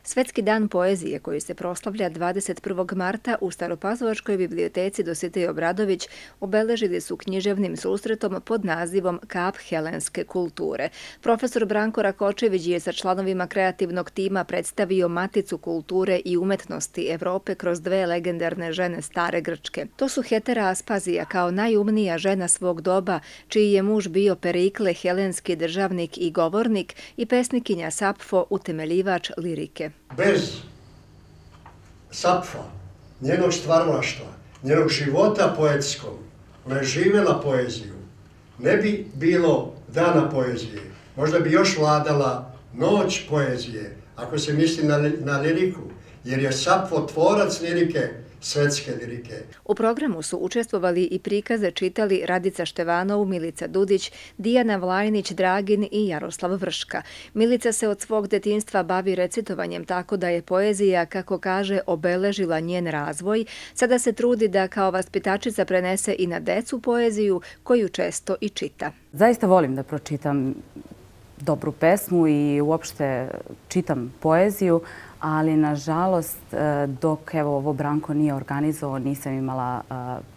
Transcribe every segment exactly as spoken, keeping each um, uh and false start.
Svetski dan poezije koji se proslavlja dvadeset prvog marta u Staropazovačkoj biblioteci Dositej Obradović obeležili su književnim susretom pod nazivom Kap helenske kulture. Profesor Branko Rakočević je sa članovima kreativnog tima predstavio maticu kulture i umetnosti Evrope kroz dve legendarne žene stare Grčke. To su Hetera Aspazija kao najumnija žena svog doba, čiji je muž bio Perikle, helenski državnik i govornik, i pesnikinja Sapfo, utemeljivač lirike. Bez Sapfa, njenog stvaralaštva, njenog života poetskog, ona je živjela poeziju, ne bi bilo dana poezije. Možda bi još vladala noć poezije, ako se misli na, na liriku, jer je Sapfo tvorac lirike, svetske lirike. U programu su učestvovali i prikaze čitali Radica Števanov, Milica Dudić, Dijana Vlajnić, Dragin i Jaroslav Vrška. Milica se od svog detinjstva bavi recitovanjem, tako da je poezija, kako kaže, obeležila njen razvoj. Sada se trudi da kao vaspitačica prenese i na decu poeziju, koju često i čita. Zaista volim da pročitam dobru pesmu i uopšte čitam poeziju, ali nažalost dok evo ovo Branko nije organizovao nisam imala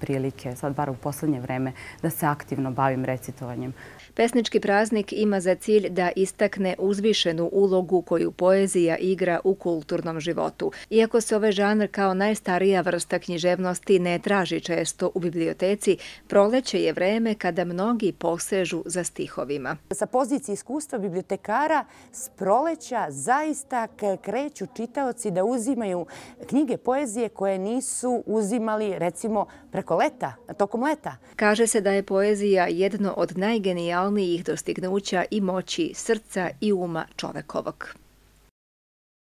prilike, sad bar u poslednje vreme, da se aktivno bavim recitovanjem. Pesnički praznik ima za cilj da istakne uzvišenu ulogu koju poezija igra u kulturnom životu. Iako se ovaj žanr kao najstarija vrsta književnosti ne traži često u biblioteci, proleće je vreme kada mnogi posežu za stihovima. Sa pozicije iskustva bibliotekara s proleća zaista kreću čitaoci da uzimaju knjige poezije koje nisu uzimali recimo preko leta, tokom leta. Kaže se da je poezija jedno od najgenijalnijih dostignuća i moći srca i uma čovekovog.